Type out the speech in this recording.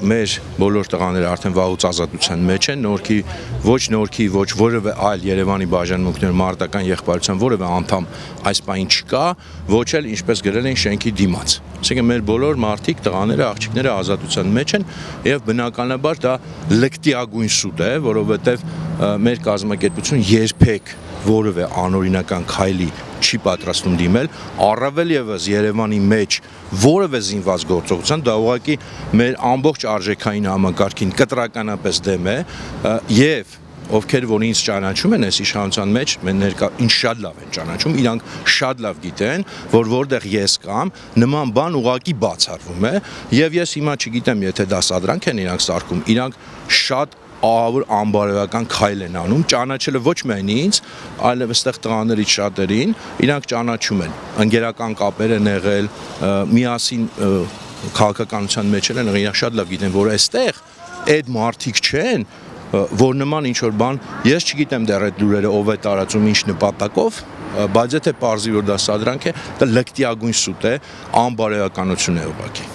մեր բոլոր տղաները արդեն վաղուց ազատության մեջ են, ոչ նորքի, ոչ որևէ այլ Երևանի բաժանմունքներ մարտական եղբայրության որևէ անդամ այս պահին չկա, ոչ էլ ինչպես գրել են շենքի դիմաց։ Այսինքն մեր բոլոր մարդիկ, տղաները, աղջիկները ազատության մեջ են եւ բնականաբար դա լկտիագույն սուտ է, որովհետեւ մեր կազմակերպությունը երբեք որևէ անօրինական քայլի չի պատրաստվում դիմել, առավել եւս Երևանի մեջ որևէ զինված գործողության, դա ուղղակի մեր ամբողջ արժեքային համակարգին կտրականապես դեմ է եւ ովքեր որ ինձ ճանաչում են այս իշխանության մեջ, ինձ շատ լավ են ճանաչում, իրանք շատ լավ գիտեն, որ որտեղ ես կամ նման բան ուղղակի բացառվում է եւ ես հիմա չգիտեմ, եթե դա սադրանք են իրանք սարքում, իրանք շատ ահավոր անբարոյական քայլ են անում, ճանաչելը ոչ միայն ինձ, այլև այստեղ տղաներից շատերին, իրանք ճանաչում են, ընկերական կապեր են եղել, միասին քաղաքականության մեջ են եղել, իրանք շատ լավ գիտեն, որ այստեղ այդ մարդիկ չեն, որ նման ինչ-որ բան, ես չգիտեմ դեռ այդ լուրերը ով է տարածում ինչ նպատակով, բայց եթե պարզի որ դա սադրանք է, դա լկտիագույն սուտ է, անբարոյականություն է ուղղակի։